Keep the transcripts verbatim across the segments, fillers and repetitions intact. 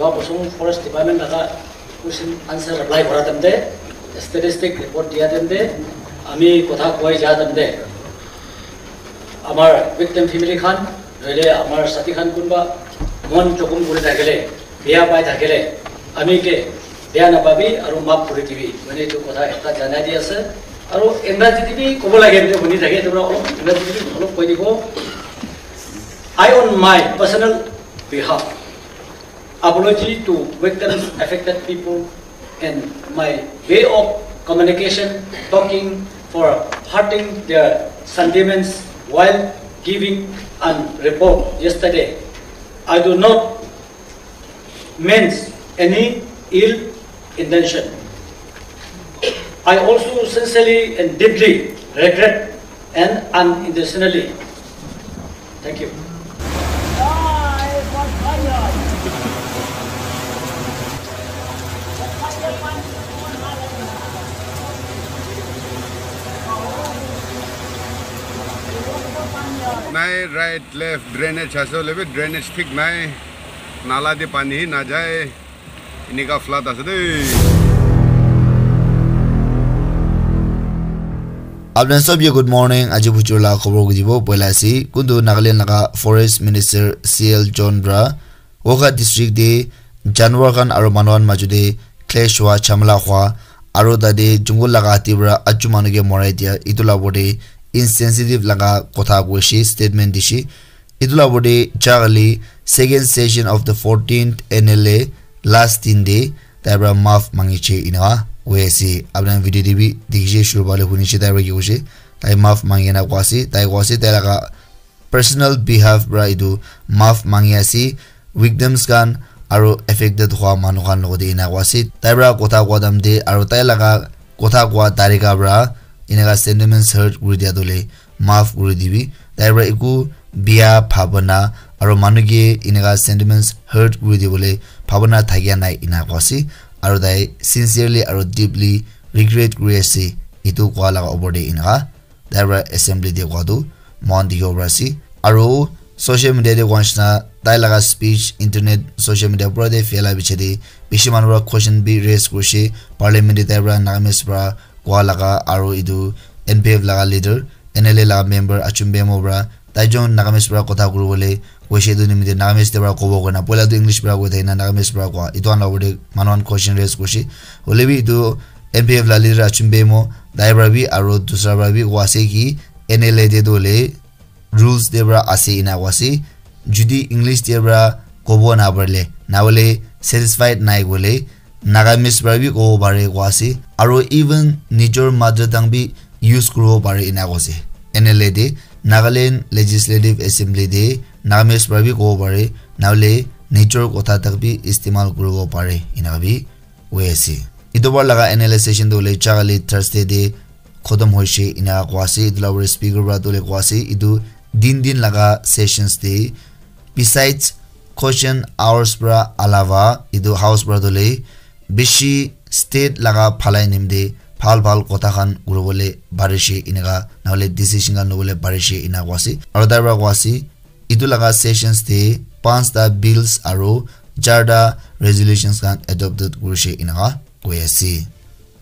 Joa bosor forest department laga question answer reply kora time te, statistic report dia time te, ami kotha koi ja time te, amar victim family khan, nohole amar sathi khan kunba mon jokhom kuri thakile, beya pai thakile, ami ke beya napabi aru maaf kuri dibi. Mane etu kotha ekta janai di ase. Aru Engraji te bi kobo lage, etu huni thake, etu para olop Engraji te bi olop koi dibo. I, on my personal behalf, apology to victims, affected people, and my way of communication, talking for hurting their sentiments while giving a report yesterday. I do not means any ill intention. I also sincerely and deeply regret and unintentionally. Thank you. Nai, right, left drainage ase hoile bi drainage thik nai, nala te pani hi najai, enika flood ase dei. Apna sob ye good morning. Aji bujur la khobor kujibo poila ase kuntu Nagaland laga forest minister C L John para Wokha district te janwar khan aro manu khan majo te clash hua, jhamala hua, aro tate jungle laga hati para achu manu ke morai dia, etu la opor te insensitive laga kotha koishe, statement dishe. Etu la opor te jagale second session of the fourteenth N L A last din te tai para maaf mangiche enika hoi ase. Apni khan video te bi dikhishe, shuru phale hunishe tai para ki koishe. Tai maaf mangi na koa ase, tai koa ase tai laga personal behalf para etu maaf mangi ase victims khan aro affected hua manu khan logote enika koa ase. Tai para kotha koa time te aro tai laga kotha koa tarika para enika sentiments hurt kuri dia tu hoile maaf kuri dibi. Tai para eku bia bhabana aro manu ke enika sentiments hurt kuri dibole bhabana thakia nai enika koa ase. Aro tai sincerely aro deeply regret kuri ase etu koa laga opor te enika. Tai para assembly te koa tu moikhan dikhibo pari ase. Aro social media te koa nishina tai laga speech internet social media pura te phaila piche te bishi manu para question bi raise kurishe. Parliament te tai para Nagamese para koa laga aro etu N P F laga leader, N L A laga member Achum Bemo para tai jon Nagamese para kotha kuribole koishe etu nimite Nagamese te para kobo koina. Poila tu English para koi thakina Nagamese para koa. Etu khan la opor te manu khan question raise kurishe. Hoile bi etu N P F la leader Achum Bemo tai para bi aro dusra para bi koa ase ki N L A te tu hoile rules te para ase ena koa ase. Judi English te para kobo na parile, na hoile satisfied nai koile, Nagamese para bi kobo pare koa ase. Aro even nijor mother tongue bi use kuribo pare ena koa ase. N L A te Nagaland Legislative Assembly te Nagamese para bi kobo pare, na hoile nijor kotha tak bi istemal kuribo pare ena bi hoi ase. Etu bar laga N L A session tu hoile jagale Thursday te khotom hoishe ena koa ase. Etu la opor te speaker para tu hoile koa ase etu din din laga sessions te besides question hours para alawa etu house para tu hoile bishi state laga bhalai nimite bhal bhal kotha khan kuribole parishe enika, na hoile decision khan lobole parishe ena koa ase. Aro tai para koa ase etu laga sessions te panchta bills aro charta resolutions khan adopted kurishe enika koi ase.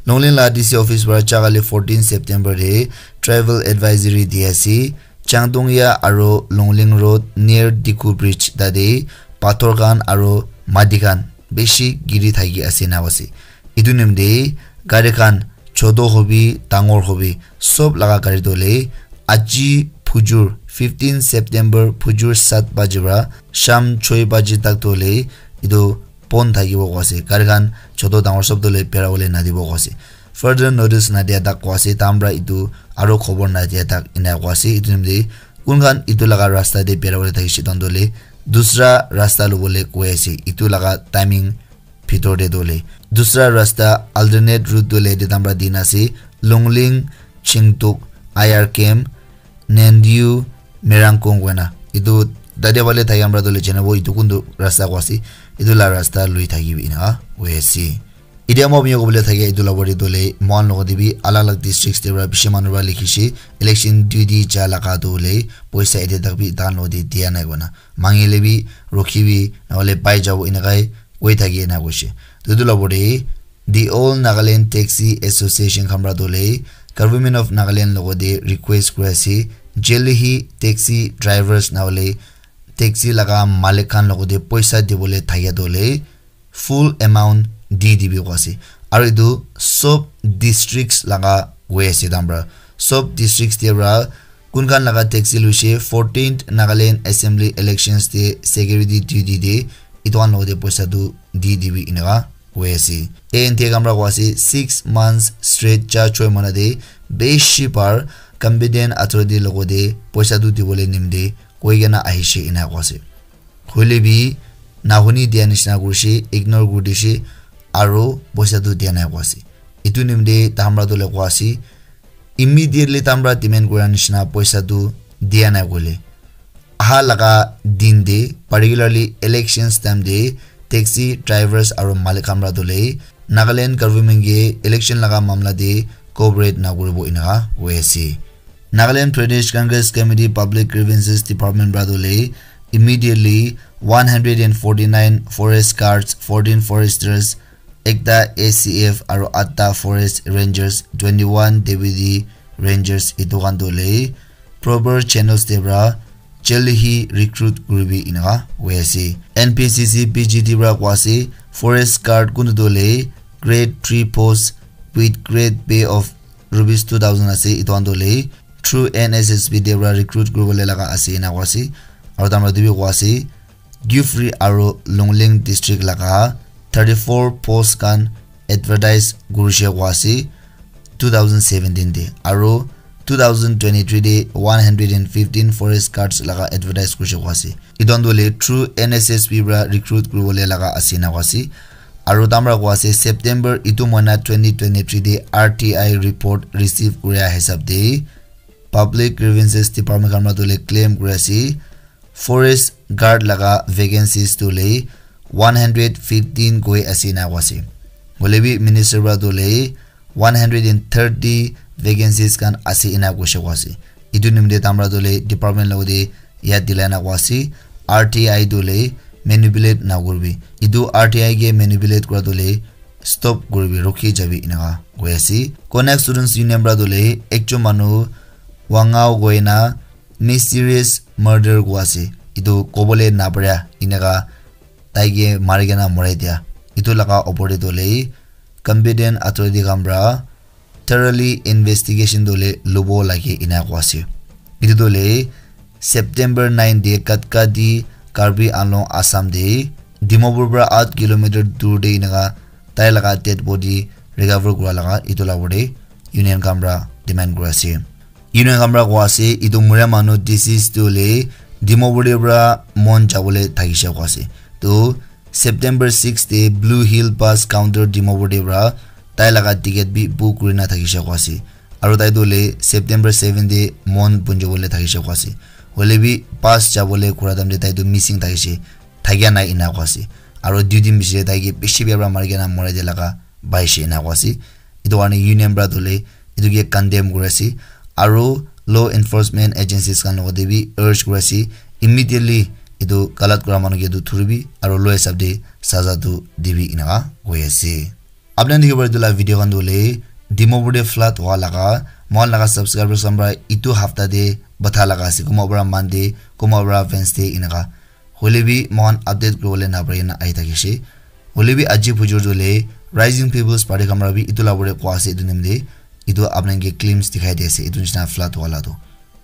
Longleng la D C office para jagale fourteen September te travel advisory di ase. Changdongya aro Longleng road near Dikhu bridge tate pathor khan aro mati khan bishi giri thaki ase na ase. Etu nimite gari khan choto hobi dangor hobi sob laga gari tu hoile aji phujur fifteen September phujur sat baji para sham choi baji tak tu hoile etu bon thakibo koa ase. Gari khan choto dangor sob tu hoile bera bole nadibo koa ase. Further notice nadia tak koa ase. Tahan para etu aro khobor nadia tak ena koa ase. Etu nimite kun khan etu laga rasta te bera bole thakishe tahan tu hoile dusra rasta lobole koi ase. Etu laga timing bhitor te tu hoile dusra rasta alternate route tu hoile yate tahan para dina ase. Longleng, Chingtuk, I R camp, Nendiu, Merangkong koina. Etu tate phale thaki khan para tu hoile janabo etu kuntu rasta koa ase. Etu la rasta lui thakibi ena hoi ase. Etia moi apni khan kobole thakia etu la opor te tu hoile moikhan logot te bi alag alag districts te para bishi manu para likhishe election duty ja laga tu hoile poisa etia tak bi tahan logot te dia nai koina. Mangile bi rukhibi na hoile pai jabo enakai koi thaki ena koise. Tutu la bore the All Nagaland Taxi Association khan pra dole Government of Nagaland logote request kuri ase, jaldi hi taxi drivers na hole taxi laga malik khan logote poisa dibole thakia dole full amount di dibi koi ase. Aru etu sob districts laga hoi ase tamra. Sob districts te pra kun khan laga taxi luise fourteenth Nagaland Assembly elections te security duty te etu khan logote poisa tu di dibi eneka hoi ase. A N T A khan pra koi ase six months straight cha choi mana te beshi bar competent authority logote poisa tu dibole nimite koi kena ahishe ena koi ase. Hoile bi nahuni dia nishina kurishe, ignore kuri dishe, aro poisa tu dia nai koi ase. Etu nimite tamra tu le koi ase, immediately tamra demand kura nishina poisa tu dia nai koile, aha laga din te, particularly elections time te, taxi drivers aro malik khan pra tu le Nagaland government ke election laga mamla te cooperate na kuribo eneka hoi ase. Nagaland Pradesh Congress Committee Public Grievances Department pra tu le immediately one hundred and forty-nine forest guards, fourteen foresters, ekta A C F aro atta forest rangers, twenty-one deputy rangers etu khan tu le proper channels te pra jaldi hi recruit kuribi eneka hoi ase. N P C C P G T pra koi ase forest guard kuntu tu le grade three post with grade pay of rupees two thousand ase. Etu khan tu le through N S S B te pra recruit kuribole laga ase ena koi ase. Aro tamra tu bi koi ase Kiphire aro Longleng district laga thirty-four post khan advertise kurishe koi ase two thousand seventeen te, aro two thousand twenty-three te one hundred and fifteen forest guards laga advertise kurishe koi ase. Etu khan tu le through N S S B pra recruit kuribole laga ase ena koi ase. Aro tamra koi ase September etu mahina twenty twenty-three te R T I report receive kuria hisab te Public Grievances Department khan pra tu le claim kuri ase forest guard laga vacancies tu le one hundred fifteen koi ase ena koi ase. Hoile bi minister pra tu le one hundred and thirty vacancies khan ase ena koishe koi ase. Etu nimite tamra tu le department logote yad dilai na koi ase, R T I tu le manipulate na kuribi. Etu R T I ke manipulate kura tu le stop kuribi, rukhi jabi eneka koi ase. Konyak Students Union pra tu le ekjon manu Wangao goina mysterious murder koi ase. Etu kobole napara eneka tai ke mari kena morai dia. Etu laga opor te tu le competent authority khan pra thoroughly investigation tu le lobo lage ena koi ase. Etu tu le September nine te Katkadi Karbi Anglong Assam te Dimapur pra eight kilometer dur te eneka tai laga dead body recover kura laga etu la opor te union khan pra demand kuri ase. Union khan pra koi ase etu muria manu deceased tu le Dimapur te pra Mon jabole thakishe koi ase. To September six te Blue Hill bus counter Dimapur te pra tai laga ticket bi book kurina thakishe koi ase. Aro tai tu le September seven te Mon punjabole thakishe koi ase. Hoile bi bus jabole kura time te tai tu missing thakishe, thakia nai ena koi ase. Aro dui din piche te tai ke bishi bia pra mari kena morai dia laga paishe ena koi ase. Etu karne union pra tu le etu ke condemn kuri ase. Aro law enforcement agencies khan logote bi urge kuri ase, immediately etu galat kura manu ke tu thuribi aro law hisab te saza tu dibi eneka koi ase. Apni khan dikhibo etu la video khan tu hoile Dimapur te flood hua laga, moikhan laga subscribers khan pra etu hafta te batha laga ase, kunba pra Monday, kunba pra Wednesday eneka. Hoile bi moikhan update kuribole napari kena ahi thakishe. Hoile bi aji bujur tu hoile Rising People's Party khan pra bi etu la opor te koi ase etu nimite, etu apni khan ke glimpse dikhai di ase etu nishina flood hua la tu.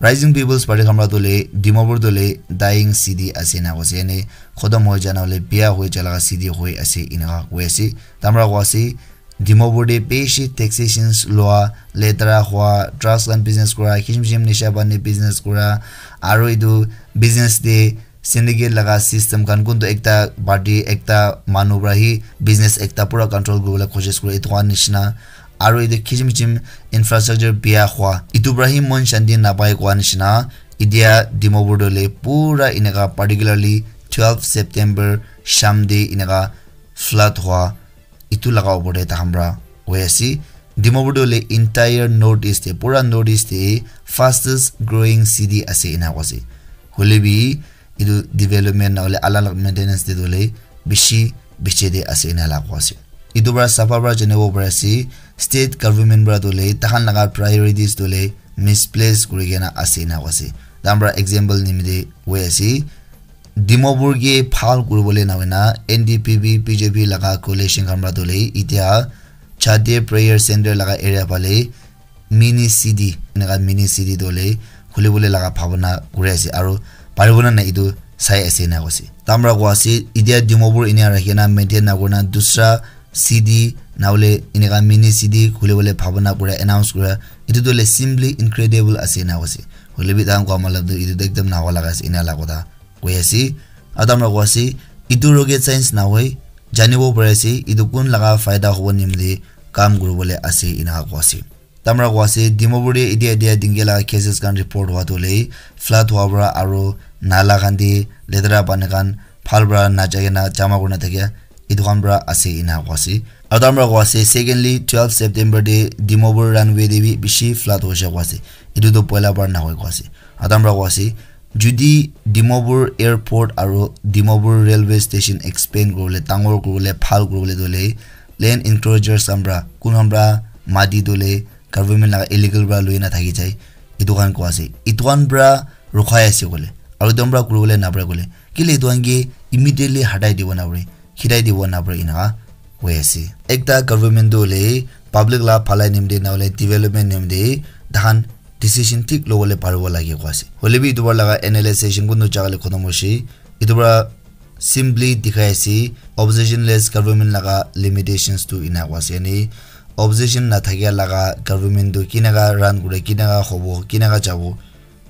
Rising People's Party khan pra tu hoile Dimapur tu hoile dying city ase ena koi ase, yani khotom hoi jana hoile biya hoi ja laga city hoi ase eneka koi ase. Tai pra koi ase Dimapur te bishi taxations lua, letera hua, drugs khan business kura, kisim kisim nisha pani business kura, aro etu business te syndicate laga system khan kuntu ekta party ekta manu pra hi business ekta pura control kuribole koshish kure etu khan nishina. Aro etu kisim kisim infrastructure biya hua, etu pra hi mon shanti napai koa nishina. Etia Dimapur te hoile pura eneka particularly twelve September sham te eneka flood hua, etu laga opor te takhan pra hoi ase. Dimapur tu hoile entire North East te, pura North East te fastest growing city ase ena koi ase. Hoile bi etu development na hoile alag alag maintenance te tu hoile bishi biche te ase ena la koa ase. Etu para sapha para janibo pari ase, state government para tu le takhan laga priorities tu le misplace kuri kena ase ena koa ase. Tahan para example nimite koi ase, Dimapur ke bhal kuribole na hoina N D P P, B J P laga coalition khan para tu le itia Chade prayer center laga area phale mini city, eneka mini city tu le khulibole laga bhabana kuri ase, aro paribo na nai etu sai ase ena koise. Tahan para koa ase, itia Dimapur enia rakhi na maintain na kurina dusra city na hole eneka mini city khulibole bhabana kura, announce kura, etu tu le simply incredible ase ena koise. Hoile bi tahan koa matlab tu etu tu ekdam na howa laga ase ena la kotha koi ase. Aro tahan para koa ase, etu rocket science na hoi, janibo pari ase etu kun laga faida hobo nimite kam kuribole ase ena koa ase. Tahan para koa ase, Dimapur te itia itia dinga laga cases khan report howa tu le flood howa para aro nala khan te letera pani khan bhal para na jai kena jama kurina thakia etu khan para ase ena koa ase. Aro tahan para koa ase, secondly, twelve September te Dimapur runway te bi bishi flood hoishe koa ase. Etu tu poila para na hoi koa ase. Aro tahan para koa ase, jodi Dimapur airport aro Dimapur railway station expand kuribole, dangor kuribole, bhal kuribole tu le land encroachers khan para, kun khan para mati tu le government laga illegal para lui na thaki jai, etu khan koa ase. Etu khan para rukhai ase koile, aro etu khan para kuribole na pare koile, kile etu khan ke immediately hatai dibo na pare, khitai dibo na pare eneka koi ase. Ekta government tu hoile public la bhalai nimite na hole development nimite tahan decision thik lobole paribo lage koa ase. Hoile bi etu para laga analysis session kuntu jaga le khotom hoishe, etu para simply dikhai ase opposition less government laga limitations tu ena koa ase. Yani opposition na thakia laga government tu kineka run kure, kineka hobo, kineka jabo,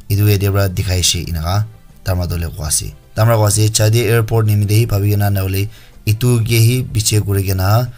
etu yate para dikhai she eneka tahan para tu le koa ase. Tahan para koa ase, Chade airport nimite hi bhabi kena na hole etu ke hi biche kuri kena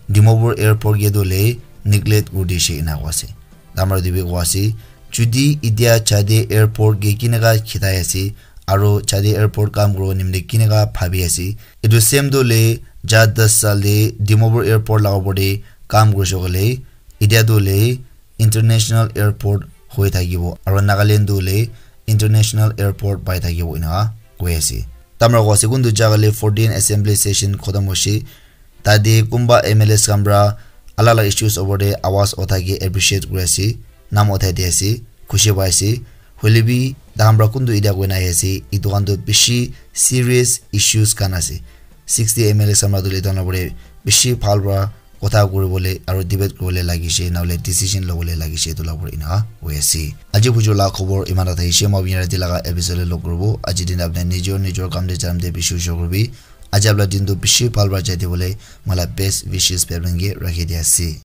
Dimapur airport ke tu le neglect kuri dishe ena koa ase. Tahan para tu bi koa ase, jodi itia Chade airport ke kineka khitai ase, aro Chade airport kam kuribo nimite kineka bhabi ase, etu same tu le ja das saal te Dimapur airport laga opor te kam kurishe koile, itia tu le international airport hoi thakibo, aro Nagaland tu le international airport pai thakibo eneka koi ase. Tahan para koa ase, kuntu jaga le fourteen assembly session khotom hoishe, tate kunba M L As khan para alag alag issues opor te awaz uthai ke appreciate kuri ase, naam uthai di ase, khushi pai ase. Hoile bi tahan para kuntu itia koina ahi ase, etu khan tu bishi serious issues khan ase. Sixty M L As khan para tu le etu khan opor te bishi bhal para kotha kuribole aro debate kuribole lagise, na hole decision lobole lagise, etu la opor eneka hoi ase. Aji buju la khobor eman ta thakishi, moi apni rati laga episode le log kuribo. Aji din apni nijor nijor kam te jam te bishi usho kuribi. Aji apni la din tu bishi bhal para jai dibole moi la best wishes pai apni ke rakhi di ase.